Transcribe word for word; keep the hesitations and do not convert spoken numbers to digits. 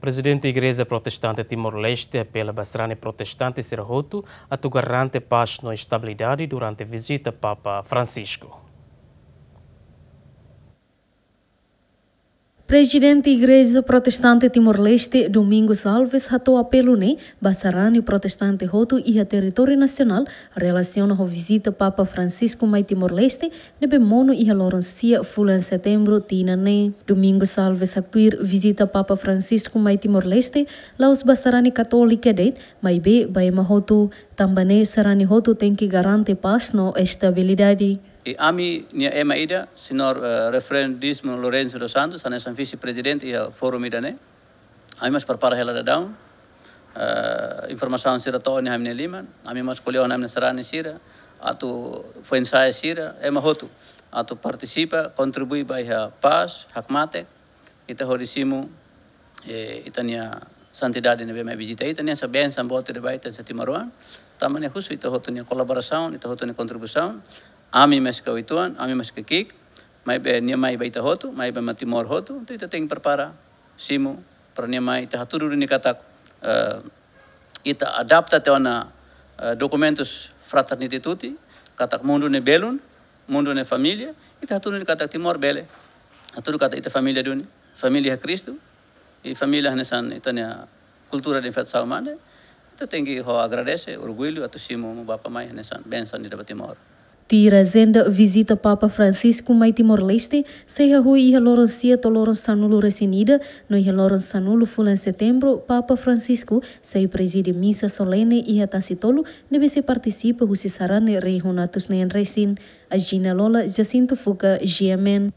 Prezidente Igreja Protestante Timor-Leste apela ba sarani protestante sira hotu atu garante pás no estabilidade durante vizita Papa Francisco. Prezidente Igreja Protestante Timor-Leste, Domingos Alves, hato'o apelu ne'e ba sarani protestante hotu iha territóriu nasionál relasiona ho vizita Papa Francisco mai Timor-Leste, ne'ebé monu iha loron sia fulan Setembru tinan ne'e. Domingos Alves haktuir vizita Papa Francisco mai Timor-Leste la'ós ba sarani katólika de'it, maibé ba ema hotu, tanba ne'e sarani hotu tenke garante pás no estabilidade. I ami-nia ema ida, Señór, eh, Reverendo Dízimo Lourenço dos Santos, hanesan vise-prezidente iha forum ida-ne'e. Ami mós prepara hela daudaun, eh, informasaun sira to'o iha ami-nia liman, ami mós ko'alia ho ami-nia sarani sira, atu foin-sa'e sira, ema hotu, atu partisipa, kontribui ba iha pás, hakmatek, ita hodi simu, eh, ita-nia santidade ne'ebé mai vizita ita, nia hanesan bensaun boot ida ba ita hanesan timoroan, tanba ne'e husu ita hotu nia kolaborasaun, ita hotu nia kontribuisaun, ami maske uitoan, ami maske ki'ik, maibé nia mai ba ita hotu, mai ba ema Timor hotu, entaun ita tenke prepara, simu, para nia mai, ita hatudu duni katak, eh, ita adapta tiha ona, eh, dokumentus Fraternité Tutti, katak mundu ne'e belun, mundu ne'e família, ita hatudu duni katak Timor bele, hatudu katak ita família duni, família Kristu, i família hanesan ita-nia kultura de festa salmande, ita tenke ho agradese, orgullu, atu simu Amu Bapa mai hanesan bensaun ida ba Timor. Tuir ajenda vizita Papa Francisco mai Timor-Leste, sei hahú iha loron sia to'o loron sanulu-resin-ida, no iha loron sanulu fulan Setembru, Papa Francisco sei prezide misa solene iha Tasi Tolu, ne'ebé sei partisipa husi sarani rihun atus neen resin. Agina Lola, Jacinto Fuca, G M N.